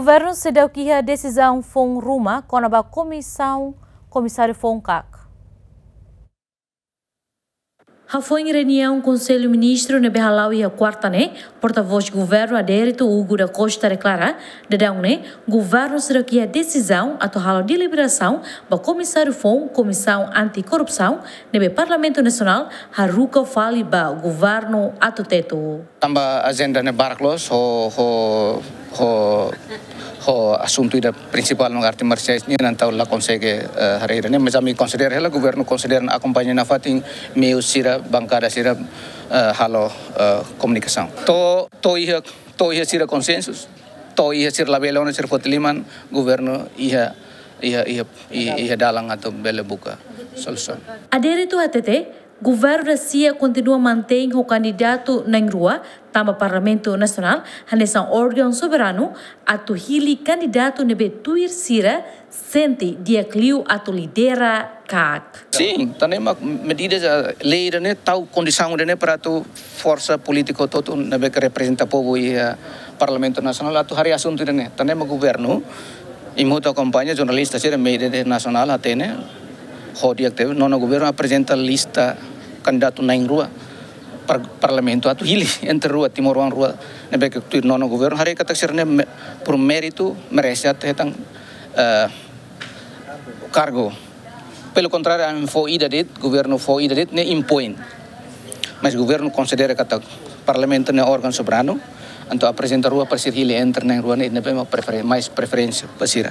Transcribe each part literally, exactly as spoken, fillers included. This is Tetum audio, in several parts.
Governu seidauk iha desizaun foun ruma kona-ba komisaun, komisáriu foun kak. Hafoin reuniaun Konsellu Ministru ne'ebé hala'o iha kuarta ne'e, portavós Governu Adérito Hugo da Costa deklara, daudaun ne'e, Governu seidauk iha desizaun atu halo deliberasaun ba komisáriu foun Komisaun Anti-Korrupsaun ne'ebé Parlamentu Nasionál haruka fali ba Governu atu tetu. Tanba ajenda ne'e barak loos, ho, ho, ho, ho asuntu ida prinsipál no arte marsiais nian, entaun la konsege, eh, haree ida-ne'e, mas ami konsidera hela, Governu konsidera, akompaña nafatin meiu sira, bankada sira, eh, halo, eh, komunikasaun. To'o, to'o iha, to'o iha sira konsensu, to'o iha sira labele ona sira foti liman, Governu iha, iha, iha, iha, iha dalan atu bele buka solusaun. Adérito hatete, Governu da-sia kontinua mantein ho kandidatu na'in-rua, tanba Parlamentu Nasionál hanesan órgaun soberanu atu hili kandidatu ne'ebé tuir sira sente di'ak liu atu lidera kak. Sin, tan ne'e mak medida ja lei ida-ne'e tau kondisaun ida-ne'e para atu forsa polítiku hotu-hotu ne'ebé ke reprezenta povu iha Parlamentu Nasionál atu haree asuntu ida-ne'e. Tan ne'e mak Governu, imi hotu akompaña, jornalista sira, média nasionál hatene, ho di'ak tebes, Nono Governu aprezenta lista kandidatu na'in-rua par-, Parlamentu atu hili entre rua, timoroan rua ne'ebé ke tuir Nono Governu, haree katak sira-ne'e me-, por méritu merese atu hetan, eh, kargu. Pelo kontráriu, ami fó ida de'it, Governu fó ida de'it, ne'e impoin. Mas Governu konsidera katak Parlamentu ne'e órgaun soberanu, entaun aprezenta rua para sira hili entre na'in-rua ne'e, ne'ebé mak preferen-, mais preferénsia ba sira.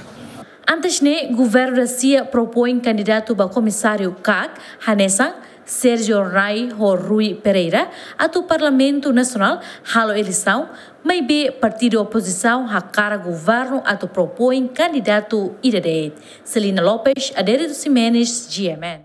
Antes ne'e, Governu da-sia propoin kandidatu ba komisáriu kak, hanesan Sérgio Rai ho Rui Pereira, atu Parlamentu Nasionál halo eleisaun, maibé partidu opozisaun hakarak Governu atu propoin kandidatu ida de'it. Celina Lopes, Adérito Ximenes, G M N.